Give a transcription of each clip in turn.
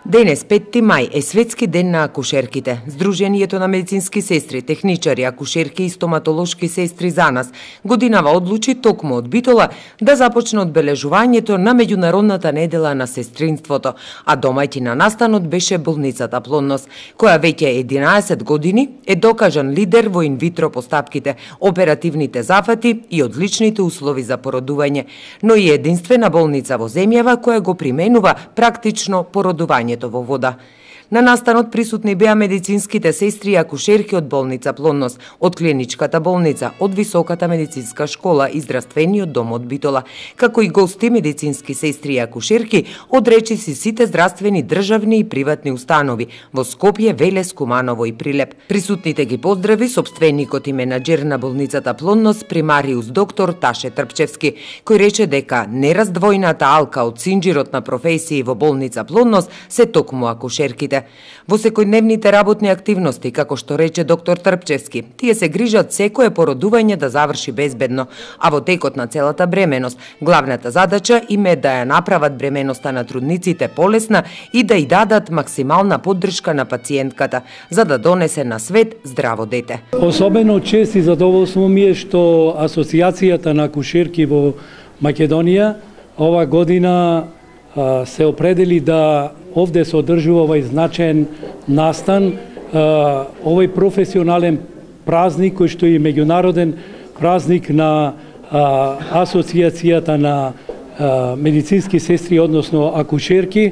Денес, 5 мај, е светски ден на акушерките. Сдруженијето на медицински сестри, техничари, акушерки и стоматолошки сестри за нас годинава одлучи токму од Битола да започне одбележувањето на меѓународната недела на сестринството, а домаќин на настанот беше болницата Плодност, која веќе 11 години е докажан лидер во инвитро постапките, оперативните зафати и одличните услови за породување, но и единствена болница во земјава која го применува практично породување во вода. На настанот присутни беа медицинските сестри и акушерки од болница Плодност, од клиничката болница, од Високата медицинска школа и здравствениот дом од Битола, како и гости медицински сестри и акушерки од речиси сите здравствени државни и приватни установи во Скопје, Велес, Куманово и Прилеп. Присутните ги поздрави сопственикот и менаџер на болницата Плодност, примариус доктор Таше Трпчевски, кој рече дека нераздвојната алка од синџирот на професии во болница Плодност се токму акушерките. Во секојдневните работни активности, како што рече доктор Трпчевски, тие се грижат секое породување да заврши безбедно, а во текот на целата бременост, главната задача им е да ја направат бременоста на трудниците полесна и да ја дадат максимална поддршка на пациентката, за да донесе на свет здраво дете. Особено чест и задоволство ми е што Асоциацијата на акушерки во Македонија ова година се определи да овде се одржува овај значаен настан, овај професионален празник кој што е меѓународен празник на Асоциацијата на медицински сестри, односно акушерки,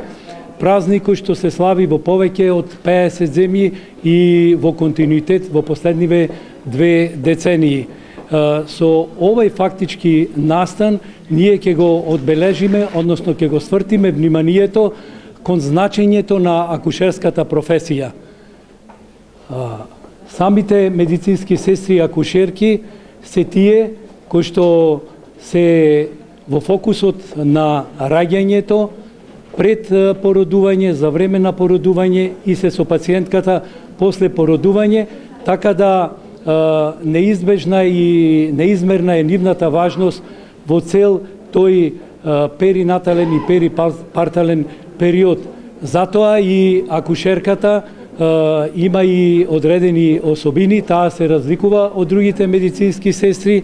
празник кој што се слави во повеќе од 50 земји и во континуитет во последниве 2 децении. Со овај фактички настан ние ќе го одбележиме, односно ќе го свртиме вниманието кон значењето на акушерската професија. Самите медицински сестри и акушерки се тие кои што се во фокусот на раѓањето, пред породување, за време на породување и се со пациентката после породување, така да неизбежна и неизмерна е нивната важност во цел тој перинатален и перипартален период. Затоа и акушерката има и одредени особини, таа се разликува од другите медицински сестри,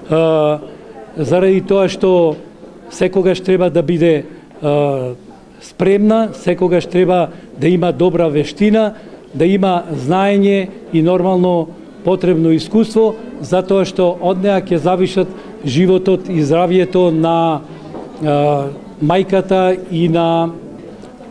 заради тоа што секогаш треба да биде спремна, секогаш треба да има добра вештина, да има знаење и нормално потребно искуство, затоа што од неа ќе завишат животот и здравјето на мајката и на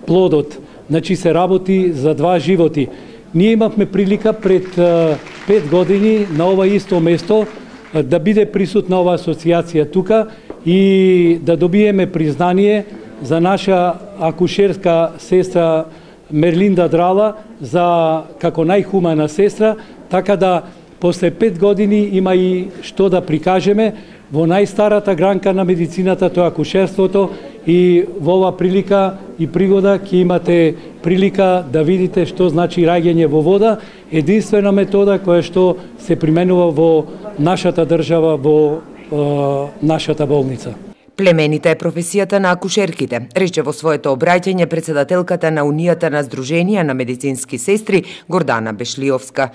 плодот. Значи се работи за два животи. Ние имавме прилика пред 5 години на ова исто место да биде присутна ова асоциација тука и да добиеме признание за наша акушерска сестра Мерлинда Драла за како најхумана сестра, така да после 5 години има и што да прикажеме во најстарата гранка на медицината, тоа акушерството, и во ова прилика и пригода ќе имате прилика да видите што значи раѓање во вода, единствена метода која што се применува во нашата држава, во нашата болница. Племенита е професијата на акушерките, рече во своето обраќање председателката на Унијата на Сдруженија на медицински сестри Гордана Бешлиовска.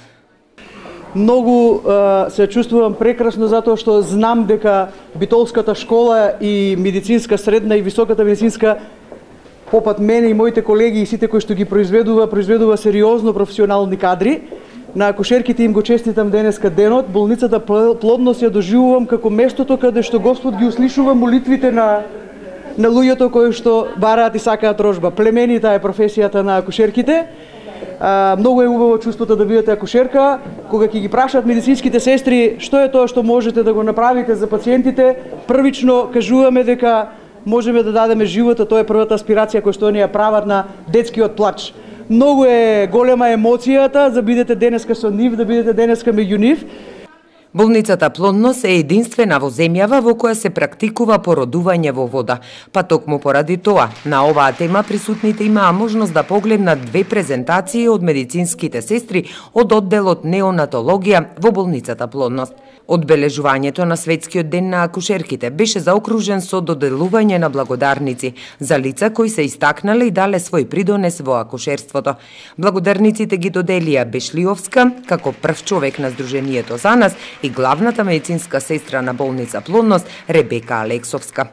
Многу се чувствувам прекрасно затоа што знам дека Битолската школа и медицинска средна и високата медицинска попат мене и моите колеги и сите кои што ги произведува сериозно професионални кадри. На акушерките им го честитам денеска денот. Болницата Плодност ја доживувам како местото каде што Господ ги услишува молитвите на луѓето кои што бараат и сакаат рожба. Племенита е професијата на акушерките. Многу е убаво чувството да бидете акушерка, кога ќе ги прашаат медицинските сестри што е тоа што можете да го направите за пациентите, првично кажуваме дека можеме да дадеме живота, тоа е првата аспирација која што они ја прават на детскиот плач. Многу е голема емоцијата за бидете денеска со нив, да бидете денеска меѓу нив. Болницата Плодност е единствена во земјава во која се практикува породување во вода, па токму поради тоа, на оваа тема присутните имаа можност да погледнат две презентации од медицинските сестри од одделот неонатологија во болницата Плодност. Одбележувањето на Светскиот ден на акушерките беше заокружен со доделување на благодарници за лица кои се истакнале и дале свој придонес во акушерството. Благодарниците ги доделија Бешлиовска како прв човек на Сдруженијето за нас и главната медицинска сестра на болница Плодност Ребека Алексовска.